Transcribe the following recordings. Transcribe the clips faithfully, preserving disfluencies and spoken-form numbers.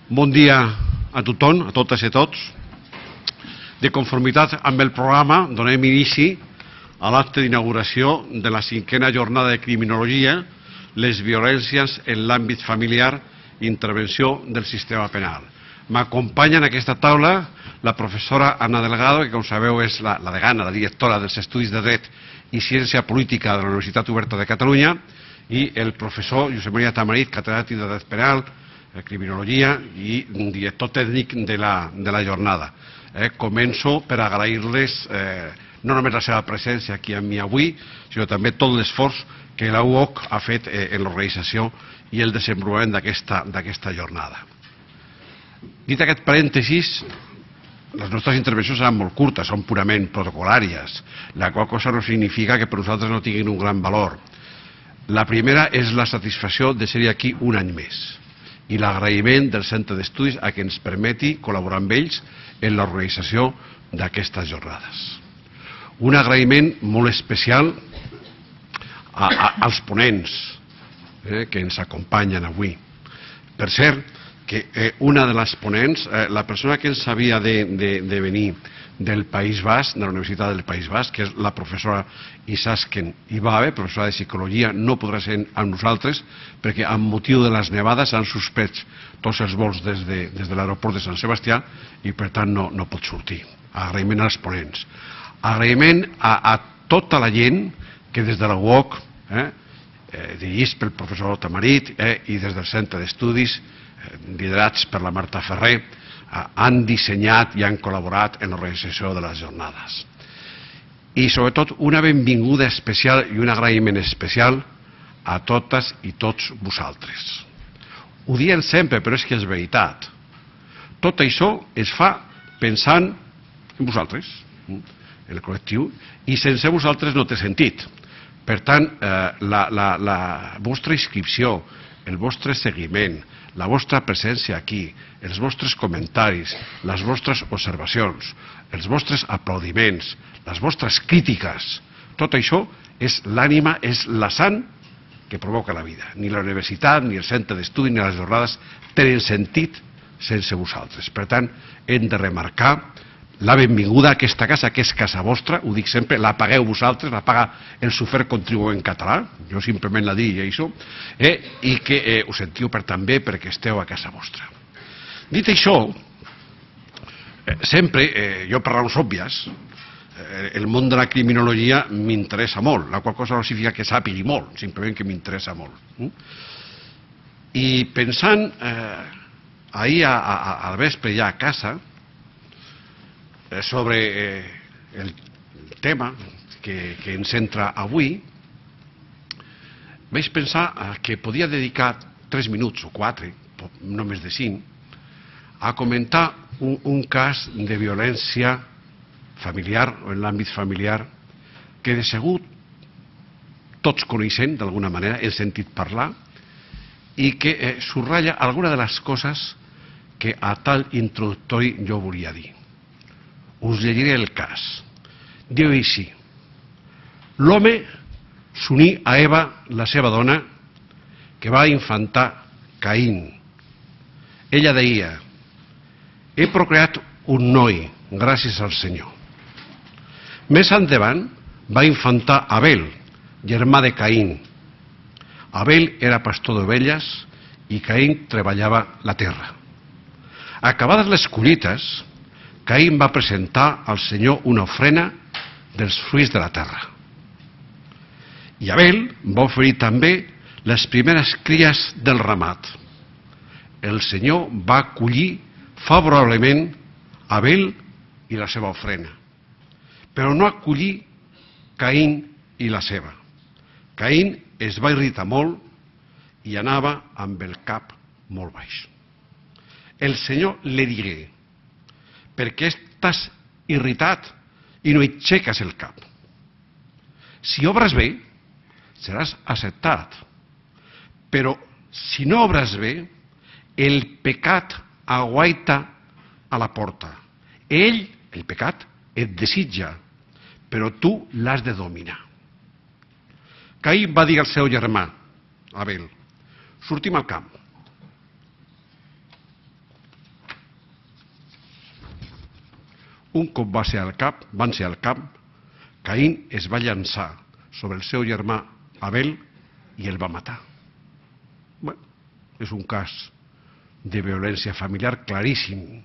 Bon dia a tothom, a totes i a tots. De conformitat amb el programa, donem inici a l'acte d'inauguració de la cinquena jornada de criminologia, les violències en l'àmbit familiar i intervenció del sistema penal. M'acompanya en aquesta taula la professora Anna Delgado, que com sabeu és la, la degana, la directora dels Estudis de Dret i Ciència Política de la Universitat Oberta de Catalunya, i el professor Josep Maria Tamarit, catedràtic de Dret Penal, Criminologia i director tècnic de la, de la jornada. Eh, començo per agrair-les eh, no només la seva presència aquí amb mi avui, sinó també tot l'esforç que la U O C ha fet eh, en l'organització i el desenvolupament d'aquesta jornada. Dit aquest parèntesis, les nostres intervencions seran molt curtes, són purament protocolàries, la qual cosa no significa que per nosaltres no tinguin un gran valor. La primera és la satisfacció de ser aquí un any més i l'agraïment del Centre d'Estudis a que ens permeti col·laborar amb ells en l'organització d'aquestes jornades. Un agraïment molt especial a, a, als ponents eh, que ens acompanyen avui. Per cert, que eh, una de les ponents, eh, la persona que ens havia de, de, de venir del País Basc, de la Universitat del País Basc, que és la professora Isasken Ibabe, professora de Psicologia, no podrà ser amb nosaltres perquè amb motiu de les nevades han suspès tots els vols des de, des de l'aeroport de Sant Sebastià i per tant no, no pot sortir. Agraïment als ponents. Agraïment a, a tota la gent que des de la U O C, eh, eh, dirigits pel professor Tamarit eh, i des del Centre d'Estudis, eh, liderats per la Marta Ferrer, han dissenyat i han col·laborat en l'organització de les jornades. I sobretot una benvinguda especial i un agraïment especial a totes i tots vosaltres. Ho diem sempre, però és que és veritat. Tot això es fa pensant en vosaltres, en el col·lectiu, i sense vosaltres no té sentit. Per tant, eh, la, la, la vostra inscripció, el vostre seguiment, la vostra presència aquí, els vostres comentaris, les vostres observacions, els vostres aplaudiments, les vostres crítiques, tot això és l'ànima, és la sang que provoca la vida. Ni la universitat, ni el centre d'estudi, ni les jornades tenen sentit sense vosaltres. Per tant, hem de remarcar la benvinguda a aquesta casa, que és casa vostra, ho dic sempre, la pagueu vosaltres, la paga el sofert contribuent català, jo simplement la dic i això, eh, i que eh, us sentiu per també perquè esteu a casa vostra. Dit això, eh, sempre, eh, jo per raons òbvies, eh, el món de la criminologia m'interessa molt, la qual cosa no significa que sàpigui molt, simplement que m'interessa molt. Mm? I pensant eh, ahir a, a, al vespre ja a casa, sobre eh, el tema que, que ens entra avui, vaig pensar que podia dedicar tres minuts o quatre, no més de cinc, a comentar un, un cas de violència familiar o en l'àmbit familiar que de segur tots coneixem d'alguna manera, hem sentit parlar, i que eh, subratlla alguna de les coses que a tal introductori jo volia dir. Us llegiré el cas. Diu així: l'home s'uní a Eva, la seva dona, que va infantar Caín. Ella deia: he procreat un noi, gràcies al Senyor. Més endavant va infantar Abel, germà de Caín. Abel era pastor d'ovelles i Caín treballava la terra. Acabades les collites, Caín va presentar al Senyor una ofrena dels fruits de la terra. I Abel va oferir també les primeres cries del ramat. El Senyor va acollir favorablement Abel i la seva ofrena, però no acollir Caín i la seva. Caín es va irritar molt i anava amb el cap molt baix. El Senyor li digué: per què estàs irritat i no aixeques el cap? Si obres bé, seràs acceptat. Però si no obres bé, el pecat aguaita a la porta. Ell, el pecat, et desitja, però tu l'has de dominar. Caín va dir al seu germà, Abel: sortim al camp. Un cop va ser al cap, van ser al camp, Caín es va llançar sobre el seu germà Abel i el va matar. Bé, és un cas de violència familiar claríssim,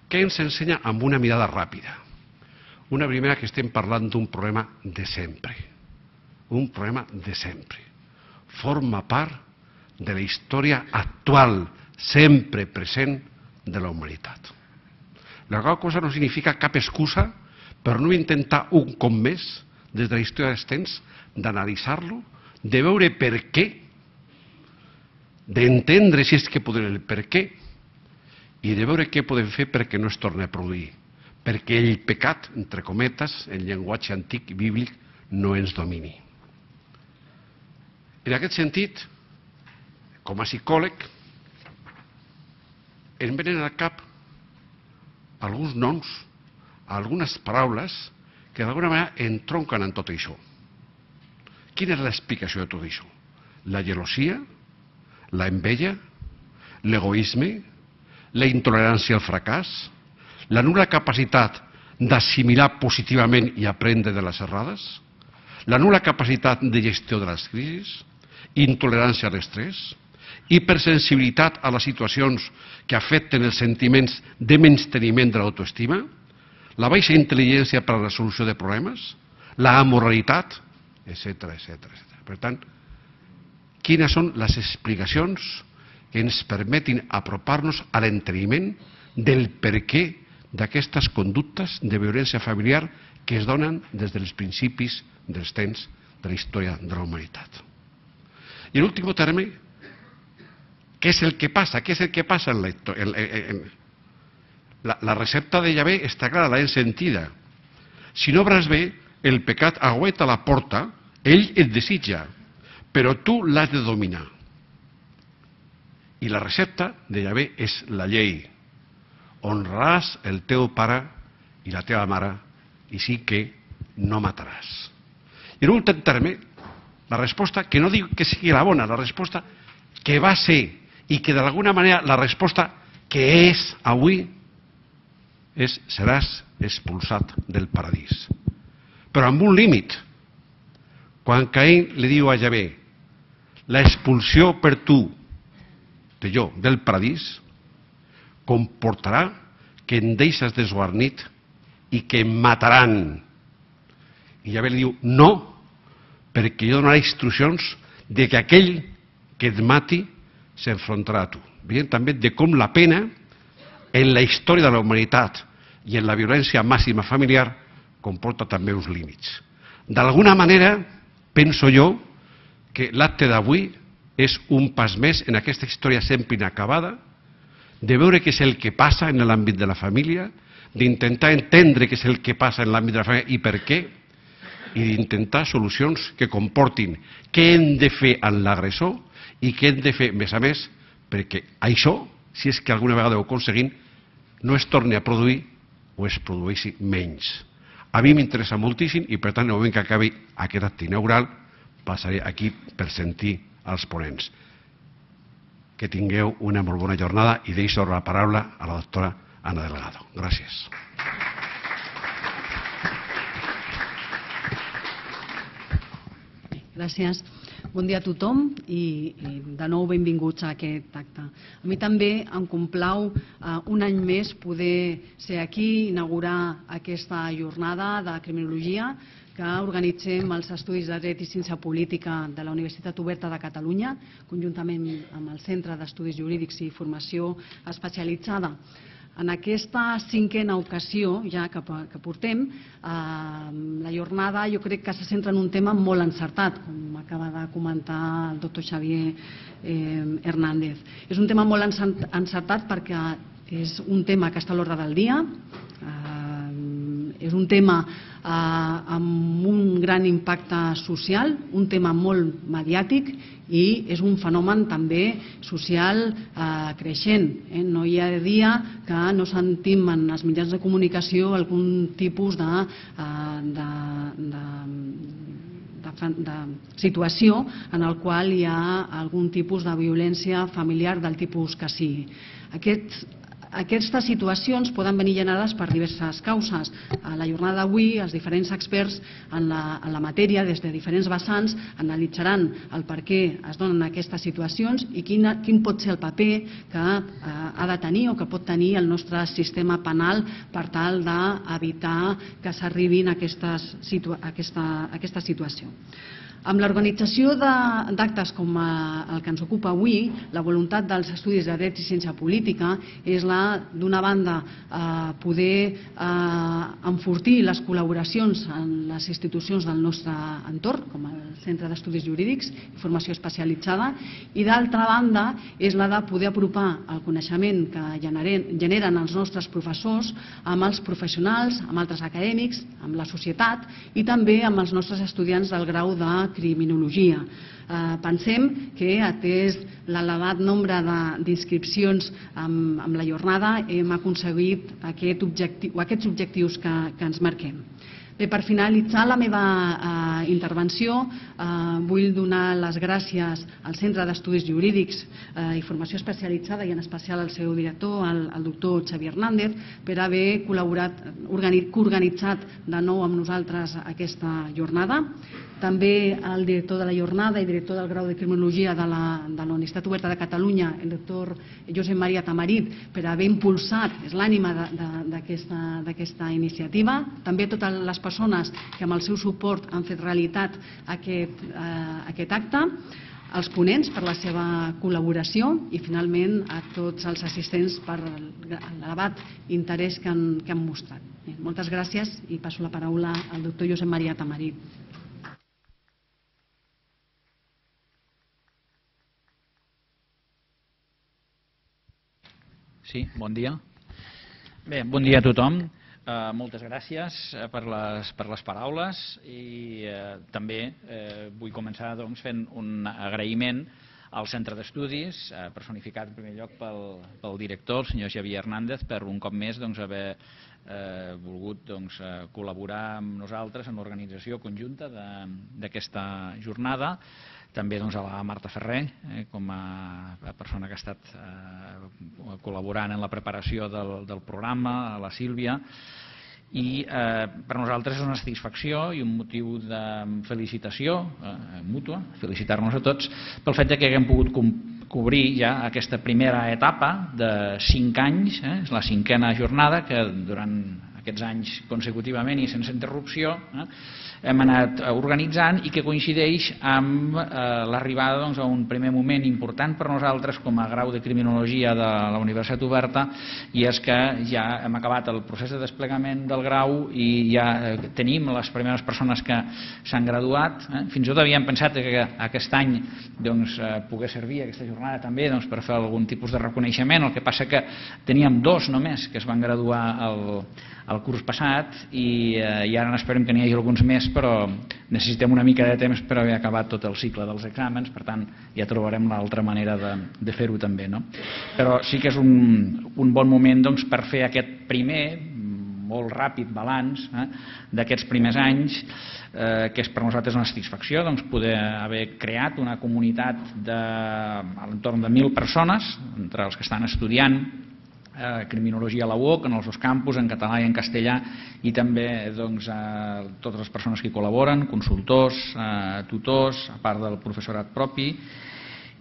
que ens ensenya amb una mirada ràpida. Una primera, que estem parlant d'un problema de sempre. Un problema de sempre. Forma part de la història actual, sempre present, de la humanitat. La qual cosa no significa cap excusa per no intentar un cop més, des de la història dels temps, d'analitzar-lo, de veure per què, d'entendre si és que podem el per què, i de veure què podem fer perquè no es torni a produir, perquè el pecat, entre cometes, en llenguatge antic i bíblic, no ens domini. En aquest sentit, com a psicòleg, em venen al cap alguns noms, algunes paraules que d'alguna manera entronquen en tot això. Quina és l'explicació de tot això? La gelosia, la enveja, l'egoisme, la intolerància al fracàs, la nul·la capacitat d'assimilar positivament i aprendre de les errades, la nul·la capacitat de gestió de les crisis, intolerància a l'estrès, hipersensibilitat a les situacions que afecten els sentiments de menysteniment de l'autoestima, la baixa intel·ligència per a la resolució de problemes, la amoralitat, etcètera, etcètera. Per tant, quines són les explicacions que ens permetin apropar-nos a l'enteniment del perquè d'aquestes conductes de violència familiar que es donen des dels principis dels temps de la història de la humanitat. I en últim terme, què és el que passa? Què és el que passa en la història? La, la recepta de Yahvé està clara, l'hem sentida. Si no obres bé, el pecat aguaita la porta, ell et desitja, però tu l'has de dominar. I la recepta de Yahvé és la llei. Honraràs el teu pare i la teva mare, i sí que no mataràs. I en últim terme, la resposta, que no dic que sigui la bona, la resposta que va ser i que d'alguna manera la resposta que és avui és: seràs expulsat del paradís. Però amb un límit. Quan Caín li diu a Yahvé: l'expulsió per tu de jo del paradís comportarà que em deixes desguarnit i que em mataran. I Yahvé li diu: no, perquè jo donaré instruccions de que aquell que et mati s'enfrontarà a tu. Veiem també de com la pena en la història de la humanitat i en la violència màxima familiar comporta també uns límits. D'alguna manera, penso jo que l'acte d'avui és un pas més en aquesta història sempre inacabada, de veure què és el que passa en l'àmbit de la família, d'intentar entendre què és el que passa en l'àmbit de la família i per què, i d'intentar solucions que comportin què hem de fer amb l'agressor i què hem de fer, més a més, perquè això, si és que alguna vegada ho aconseguim, no es torni a produir o es produeixi menys. A mi m'interessa moltíssim i, per tant, en el moment que acabi aquest acte inaugural, passaré aquí per sentir els ponents. Que tingueu una molt bona jornada i deixo la paraula a la doctora Ana Delgado. Gràcies. Gràcies. Bon dia a tothom i, i de nou benvinguts a aquest acte. A mi també em complau eh, un any més poder ser aquí, inaugurar aquesta jornada de criminologia que organitzem els Estudis de Dret i Ciència Política de la Universitat Oberta de Catalunya, conjuntament amb el Centre d'Estudis Jurídics i Formació Especialitzada. En aquesta cinquena ocasió ja que, que portem, eh, la jornada jo crec que se centra en un tema molt encertat, com acaba de comentar el doctor Xavier eh, Hernández. És un tema molt encertat perquè és un tema que està a l'ordre del dia, eh, és un tema eh, amb un gran impacte social, un tema molt mediàtic i és un fenomen també social eh, creixent. Eh? No hi ha dia que no sentim en els mitjans de comunicació algun tipus de, eh, de, de, de, de situació en el qual hi ha algun tipus de violència familiar del tipus que sigui. Aquest, Aquestes situacions poden venir generades per diverses causes. A la jornada d'avui, els diferents experts en la, en la matèria, des de diferents vessants, analitzaran el per què es donen aquestes situacions i quin, quin pot ser el paper que eh, ha de tenir o que pot tenir el nostre sistema penal per tal d'evitar que s'arribin a, aquestes, situa a, aquesta, a aquesta situació. Amb l'organització d'actes com el que ens ocupa avui, la voluntat dels estudis de dret i ciència política és la, d'una banda, eh, poder eh, enfortir les col·laboracions en les institucions del nostre entorn, com el Centre d'Estudis Jurídics i Formació Especialitzada, i d'altra banda és la de poder apropar el coneixement que generen, generen els nostres professors amb els professionals, amb altres acadèmics, amb la societat i també amb els nostres estudiants del grau de criminologia. Eh, pensem que, atès l'elevat nombre d'inscripcions amb, amb la jornada, hem aconseguit aquest objectiu, aquests objectius que, que ens marquem. Bé, per finalitzar la meva eh, intervenció, eh, vull donar les gràcies al Centre d'Estudis Jurídics eh, i Formació Especialitzada i en especial al seu director, el, el doctor Xavier Hernández, per haver col·laborat, organi, coorganitzat de nou amb nosaltres aquesta jornada. També al director de la jornada i director del grau de criminologia de la, de la Universitat Oberta de Catalunya, el doctor Josep Maria Tamarit, per haver impulsat, és l'ànima d'aquesta iniciativa. També totes les persones que amb el seu suport han fet realitat aquest, eh, aquest acte, als ponents per la seva col·laboració i finalment a tots els assistents per l'elevat interès que han, que han mostrat. Bé, moltes gràcies i passo la paraula al doctor Josep Maria Tamarit. Sí, bon dia. Bé, bon dia a tothom. Uh, moltes gràcies uh, per, les, per les paraules i uh, també uh, vull començar doncs, fent un agraïment al Centre d'Estudis, uh, personificat en primer lloc pel, pel director, el senyor Xavier Hernández, per un cop més doncs, haver uh, volgut doncs, uh, col·laborar amb nosaltres en l'organització conjunta d'aquesta jornada. També doncs, a la Marta Ferrer, eh, com a, a persona que ha estat eh, col·laborant en la preparació del, del programa, a la Sílvia, i eh, per nosaltres és una satisfacció i un motiu de felicitació eh, mútua, felicitar-nos a tots, pel fet que haguem pogut cobrir ja aquesta primera etapa de cinc anys, eh, és la cinquena jornada que durant aquests anys consecutivament i sense interrupció eh, hem anat organitzant i que coincideix amb eh, l'arribada doncs, a un primer moment important per nosaltres com a grau de criminologia de la Universitat Oberta, i és que ja hem acabat el procés de desplegament del grau i ja eh, tenim les primeres persones que s'han graduat. Eh. Fins i tot havíem pensat que aquest any doncs, eh, pogués servir aquesta jornada també doncs, per fer algun tipus de reconeixement, el que passa que teníem dos només que es van graduar el, el curs passat i, eh, i ara n'esperem que n'hi hagi alguns més, però necessitem una mica de temps per haver acabat tot el cicle dels exàmens, per tant ja trobarem l'altra manera de, de fer-ho també. No? Però sí que és un, un bon moment doncs, per fer aquest primer, molt ràpid balanç eh, d'aquests primers anys, eh, que és per nosaltres una satisfacció doncs, poder haver creat una comunitat de, a l'entorn de mil persones, entre els que estan estudiant Eh, criminologia a la U O C, en els dos campus, en català i en castellà, i també doncs, eh, totes les persones que hi col·laboren, consultors, eh, tutors, a part del professorat propi.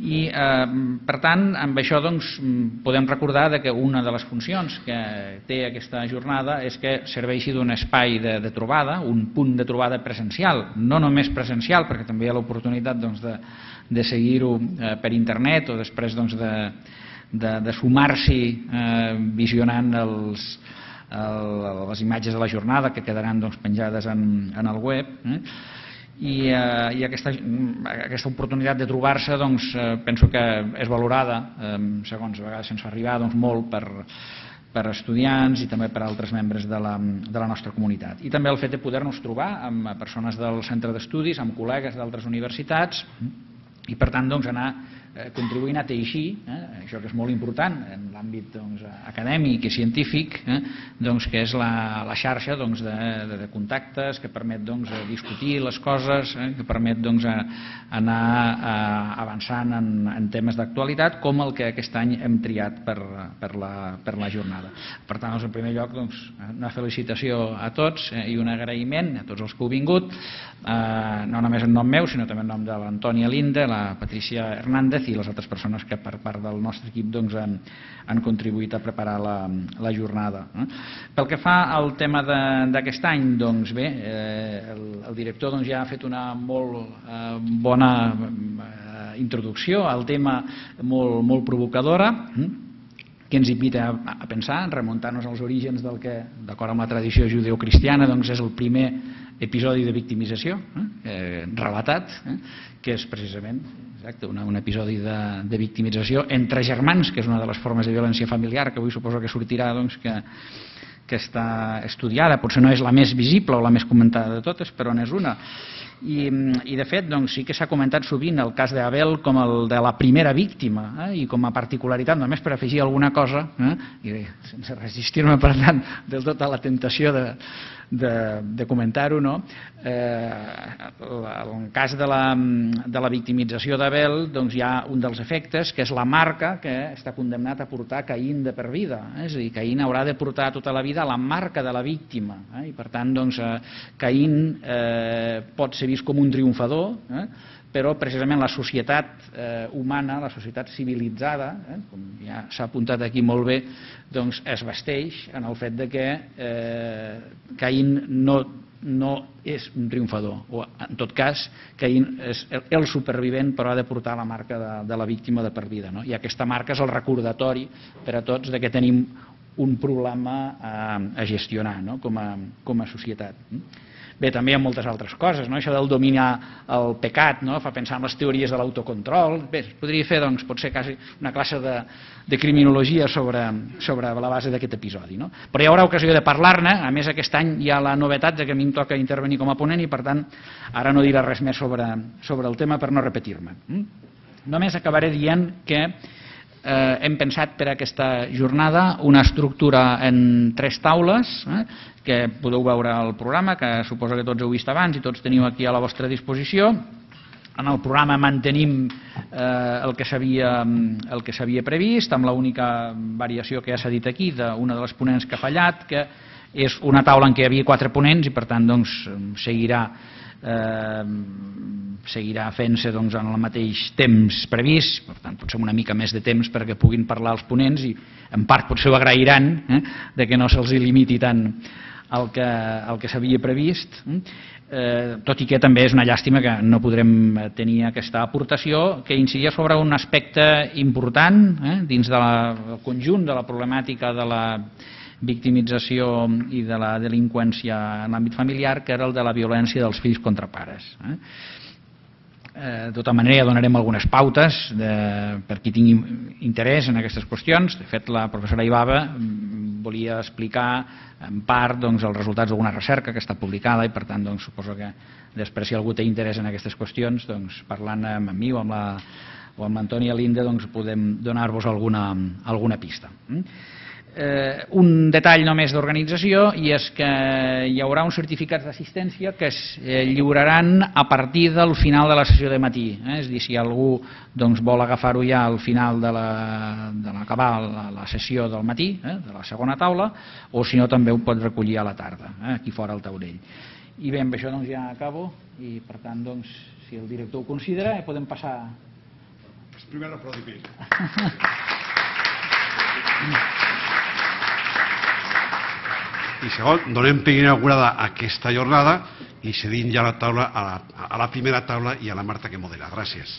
I eh, per tant, amb això doncs, podem recordar que una de les funcions que té aquesta jornada és que serveixi d'un espai de, de trobada, un punt de trobada presencial, no només presencial, perquè també hi ha l'oportunitat doncs, de, de seguir-ho eh, per internet o després doncs, de de, de sumar-s'hi eh, visionant els, el, les imatges de la jornada que quedaran doncs, penjades en, en el web. Eh? I, eh, i aquesta, aquesta oportunitat de trobar-se doncs, eh, penso que és valorada, eh, segons a vegades se'ns fa arribar, doncs, molt per, per estudiants i també per altres membres de la, de la nostra comunitat. I també el fet de poder-nos trobar amb persones del centre d'estudis, amb col·legues d'altres universitats, i per tant doncs, anar contribuint a teixir, eh, això que és molt important en l'àmbit doncs, acadèmic i científic, eh, doncs, que és la, la xarxa doncs, de, de, de contactes que permet doncs, discutir les coses, eh, que permet doncs, anar eh, avançant en, en temes d'actualitat com el que aquest any hem triat per, per, la, per la jornada. Per tant, doncs, en primer lloc, doncs, una felicitació a tots eh, i un agraïment a tots els que heu vingut, eh, no només en nom meu, sinó també en nom de l'Antònia Linde, la Patricia Hernández i les altres persones que per part del nostre equip doncs, han, han contribuït a preparar la, la jornada. Pel que fa al tema d'aquest any, doncs bé, eh, el, el director doncs, ja ha fet una molt eh, bona eh, introducció al tema molt, molt provocadora, que ens invita a pensar, remuntar-nos als orígens del que, d'acord amb la tradició judeocristiana, doncs és el primer episodi de victimització eh, relatat, eh, que és precisament exacte, una, un episodi de, de victimització entre germans, que és una de les formes de violència familiar que avui suposo que sortirà doncs, que, que està estudiada, potser no és la més visible o la més comentada de totes, però n'és una. I, i de fet doncs, sí que s'ha comentat sovint el cas d'Abel com el de la primera víctima, eh, i com a particularitat, només per afegir alguna cosa, eh, i sense resistir-me per tant del tot a la tentació de, de, de comentar-ho, no? eh, el cas de la, de la victimització d'Abel doncs, hi ha un dels efectes que és la marca que està condemnat a portar Caín de per vida, eh? És a dir, Caín haurà de portar tota la vida la marca de la víctima, eh? I per tant doncs, eh, Caín eh, pot ser vist com un triomfador, eh? Però precisament la societat eh, humana, la societat civilitzada, eh, com ja s'ha apuntat aquí molt bé, doncs es vesteix en el fet de que eh, Caín no, no és un triomfador, o en tot cas Caín és el supervivent però ha de portar la marca de, de la víctima de per vida, no? I aquesta marca és el recordatori per a tots de que tenim un problema a, a gestionar, no? com, a, com a societat. Bé, també hi ha moltes altres coses, no? Això del dominar el pecat, no? Fa pensar en les teories de l'autocontrol. Bé, es podria fer, doncs, potser quasi una classe de, de criminologia sobre, sobre la base d'aquest episodi, no? Però hi haurà ocasió de parlar-ne. A més, aquest any hi ha la novetat de que a mi em toca intervenir com a ponent i, per tant, ara no diré res més sobre, sobre el tema per no repetir-me. Només acabaré dient que Eh, hem pensat per a aquesta jornada una estructura en tres taules, eh, que podeu veure al programa, que suposo que tots heu vist abans i tots teniu aquí a la vostra disposició. En el programa mantenim eh, el que s'havia el que s'havia previst, amb l'única variació que ja s'ha dit aquí d'una de les ponents que ha fallat, que és una taula en què hi havia quatre ponents i per tant doncs, seguirà Eh, seguirà fent-se doncs, en el mateix temps previst, per tant potser una mica més de temps perquè puguin parlar els ponents i en part potser ho agrairan eh, de que no se'ls limiti tant el que, el que s'havia previst, eh, tot i que també és una llàstima que no podrem tenir aquesta aportació que incidia sobre un aspecte important eh, dins del conjunt de la problemàtica de la victimització i de la delinqüència en l'àmbit familiar, que era el de la violència dels fills contra pares. Eh? De tota manera, ja donarem algunes pautes de, per qui tingui interès en aquestes qüestions. De fet, la professora Ibaba volia explicar en part doncs, els resultats d'alguna recerca que està publicada i, per tant, doncs, suposo que després, si algú té interès en aquestes qüestions, doncs, parlant amb mi o amb la, o amb l'Antònia Linde, doncs, podem donar-vos alguna, alguna pista. Eh, un detall només d'organització, i és que hi haurà uns certificats d'assistència que es eh, lliuraran a partir del final de la sessió de matí, eh? És a dir, si algú doncs, vol agafar-ho ja al final de l'acabar la, la, la sessió del matí, eh? De la segona taula, o si no també ho pot recollir a la tarda, eh? Aquí fora al taulell. I bé, amb això doncs, ja acabo i per tant, doncs, si el director ho considera, eh, podem passar... Pues primero aplaudir. I segon, donem per inaugurada aquesta jornada i cedim ja la taula a la, a la primera taula i a la Marta que modera. Gràcies.